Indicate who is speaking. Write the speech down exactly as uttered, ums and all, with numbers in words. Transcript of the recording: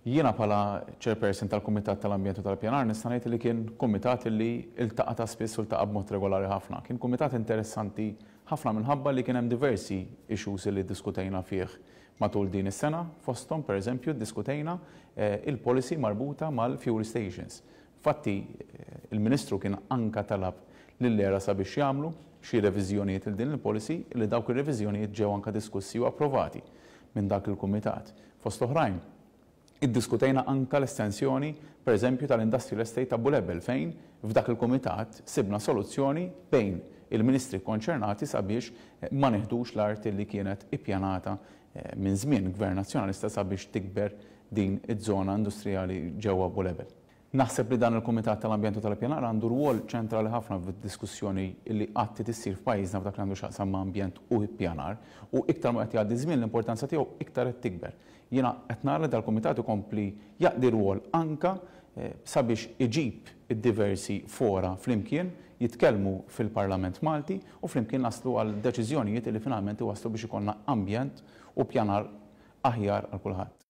Speaker 1: Jiena bħala chairperson tal-Kumitat tal-Ambjent u tal-Pjanar nista' ngħid li kien kumitat li iltaqa' ta' spiss u ltaqa' b'mod regolari ħafna. Kien kumitat interessanti ħafna minħabba li kien hemm diversi issues li ddiskutejna fih matul din is-sena, fosthom pereżempju ddiskutejna il-policy marbuta mal-fuel stations. Fatti, il-Ministru kien anka talab lill-ERA sabiex jagħmlu xi reviżjonijiet il din il-policy, li dawk ir-reviżjonijiet ġew anka diskussi u approvati minn dak il-kumitat. Fost oħrajn, iddiskutejna anka l-estensjoni, per eżempju, tal-Industrial Estate ta' Bulebel, fejn f'dak il-kumitat sibna soluzzjoni bejn il-ministri konċernati sabiex ma neħdux l-art li kienet ippjanata minn żmien Gvern Nazzjonalista sabiex tikber din iż-żona industrijali ġewwa Bulebel. Naħseb li dan il-Kumitat tal-Ambjent u tal-Ippjanar għandu rwol ċentrali ħafna fid-diskussjoni li qatt issir f'pajjiżna f'dak li għandu x'jaqsam ma' ambjent u ippjanar, u iktar ma qed jgħaddi żmien l-importanza tiegħu iktar qed tikber. Jiena qed nara li dal-kumitat ikompli jaqdi rwol anka sabiex iġib id-diversi fora flimkien jitkellmu fil-Parlament Malti u flimkien naslu għal deċiżjonijiet li finalment iwasslu biex ikollna ambjent u pjanar aħjar għal kulħadd.